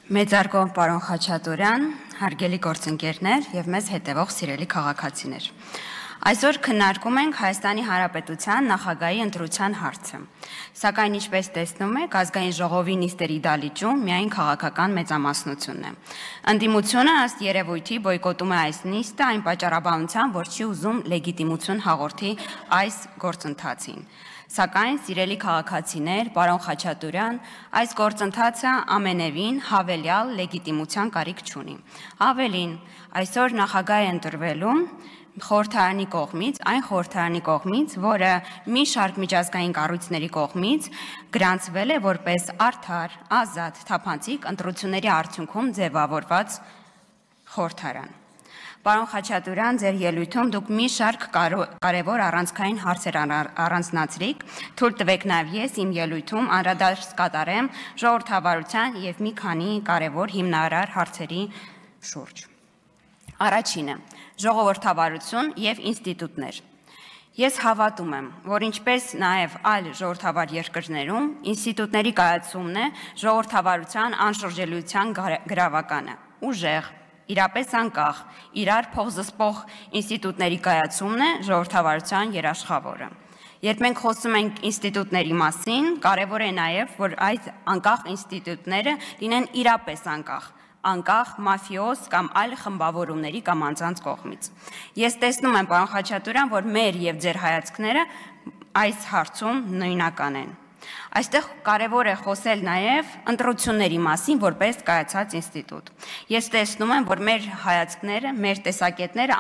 Մեծարգով պարոն Խաչատուրյան, հարգելի գործընկերներ եւ մեզ հետևող սիրելի քաղաքացիներ։ Այսօր քննարկում ենք Հայաստանի Հանրապետության նախագահի ընտրության հարցը։ Սակայն ինչպես տեսնում եք, ազգային ժողովի նիստերի դալիճում միայն քաղաքական մեծամասնությունն է։ Ընդդիմությունը ըստ երևույթի բոյկոտում է այս նիստը այն պատճառաբանությամբ, որ չի ուզում լեգիտիմություն հաղորդի այս գործընթացին։ Սակայն, սիրելի քաղաքացիներ, պարոն Խաչատուրյան, այս գործընթացը ամենևին հավելյալ լեգիտիմության կարիք չունի։ Ավելին, այսօր նախագահ է ընտրվելու խորհրդարանի կողմից, այն խորհրդարանի կողմից, որը մի շարք միջազգային կառույցների կողմից գրանցվել է որպես արդար, ազատ, թափանցիկ ընտրությունների արդյունքում ձևավորված խորհրդարան։ Պարոն Խաչատուրյան, ձեր ելույթում դուք մի շարք կարևոր առանցքային հարցեր առանձնացրիք, թույլ տվեք նաև ես իմ ելույթում անդրադարձ կատարեմ ժողովրդավարության եւ մի քանի կարևոր հիմնարար հարցերի շուրջ։ Առաջինը՝ ժողովրդավարություն եւ ինստիտուտներ։ Ես հավատում եմ, որ ինչպես նաև այլ ժողովրդավար երկրներում, ինստիտուտների կայացումն է ժողովրդավարության անշրջելիության գրավականը, ուժեղ, իրապես անկախ, իրար փոխզսպող ինստիտուտների կայացումն է ժողովրդավարության երաշխավորը։ Երբ մենք խոսում ենք ինստիտուտների մասին, կարևոր է նաև, որ այդ անկախ ինստիտուտները լինեն իրապես անկախ մաֆիոզ կամ այլ խմբավորումների կամ անձանց կողմից։ Ես տեսնում եմ, պարոն Խաչատուրյան, որ մեր եւ ձեր հայացքները այս հարցում նույնական են։ Այստեղ կարևոր է խոսել նաև ընտրությունների մասին որպես կայացած ինստիտուտ։ Ես տեսնում եմ, որ մեր հայացքները, մեր տեսակետները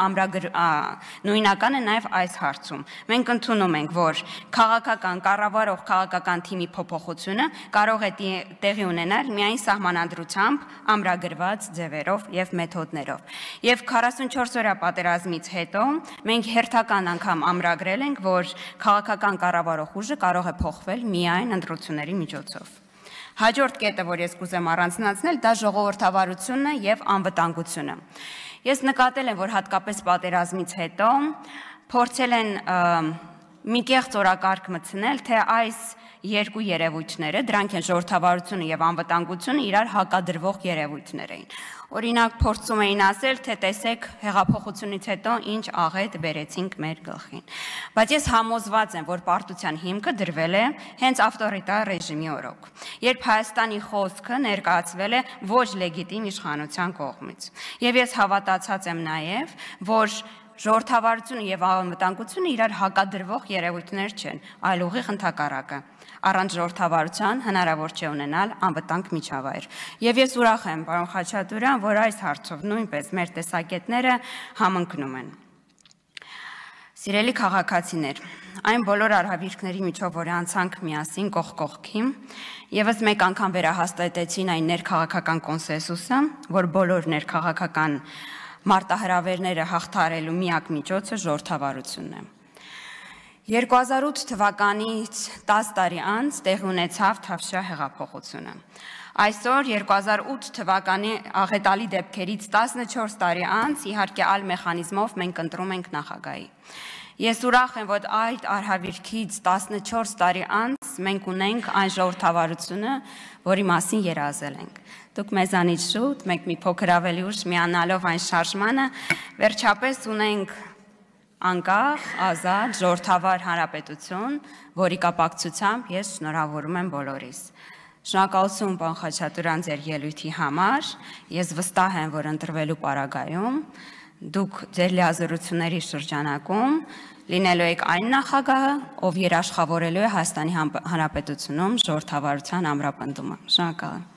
նույնական են նաև այս հարցում։ Մենք ընդունում ենք, որ քաղաքական կառավարող քաղաքական թիմի փոփոխությունը կարող է տեղի ունենալ միայն սահմանադրությամբ ամրագրված ձևերով եւ մեթոդներով։ Եվ 44 օրյա պատերազմից հետո մենք հերթական անգամ ամրագրել ենք, որ քաղաքական կառավարող ուժը կարող է փոխվել միայն ընտրությունների միջոցով։ Հաջորդ կետը, որ ես կուզեմ առանձնացնել, դա ժողովրդավարությունն է եւ անվտանգությունը։ Ես նկատել եմ, որ հատկապես պատերազմից հետո փորձել են մի կեղծ օրակարգ մտցնել, թե այս երկու երևույթները, դրանք են ժողովրդավարությունը եւ անվտանգությունը, իրար հակադրվող երևույթներ էին։ Օրինակ, փորձում էին ասել, թե տեսեք հեղափոխությունից հետո ինչ աղետ բերեցինք մեր գլխին։ Բայց ես համոզված եմ, որ պարտության հիմքը դրվել է հենց ավտորիտար ռեժիմի օրոք, երբ Հայաստանի խոսքը ներկայացվել է ոչ լեգիտիմ իշխանության կողմից։ Եվ ես հավատացած եմ նաև, որ ժողովրդավարությունը եւ անվտանգությունը իրար հակադրվող երևույթներ չեն, այլ ուղիղ ընդհակառակը։ Առանց ժողովրդավարության հնարավոր չէ ունենալ անվտանգ միջավայր։ Եվ ես ուրախ եմ, պարոն Խաչատուրյան, որ այս հարցով նույնպես մեր տեսակետները համընկնում են։ Սիրելի քաղաքացիներ, այն բոլոր արհավիրքների միջով, որ անցանք միասին կողք կողքի, եւս մեկ անգամ վերահաստատեցին այն ներքաղաքական կոնսենսուսը, որ բոլոր ներքաղաքական մարտահրավերները հաղթահարելու միակ միջոցը ժողովրդավարությունն է։ 2008 թվականից 10 տարի անց տեղի ունեցավ Թավշյա հեղափոխությունը։ Այսօր 2008 թվականի աղետալի դեպքերից 14 տարի անց իհարկե այլ մեխանիզմով մենք ընտրում ենք նախագահի։ Ես ուրախ եմ, որ այդ արհավիրքից 14 տարի անց մենք ունենք այն ժողովրդավարությունը, որի մասին երազել ենք։ Դուք մեզանից շուտ, մենք մի փոքր ավելի ուշ միանալով այն շարժմանը, վերջապես ունենք անկախ, ազատ, ժողովրդավար հանրապետություն, որի կապակցությամբ ես շնորհավորում եմ բոլորիս։ Շնորհակալություն, պարոն Խաչատուրյան, ձեր ելույթի համար։ Ես վստահ եմ, որ ընտրվելու պարագայում դուք ձեր լիազորությունների շրջանակում լինելու եք այն նախագահը, ով երաշխավորելու է Հայաստանի Հանրապետությունում ժողովրդավարության ամրապնդումը։ Շնորհակալ եմ։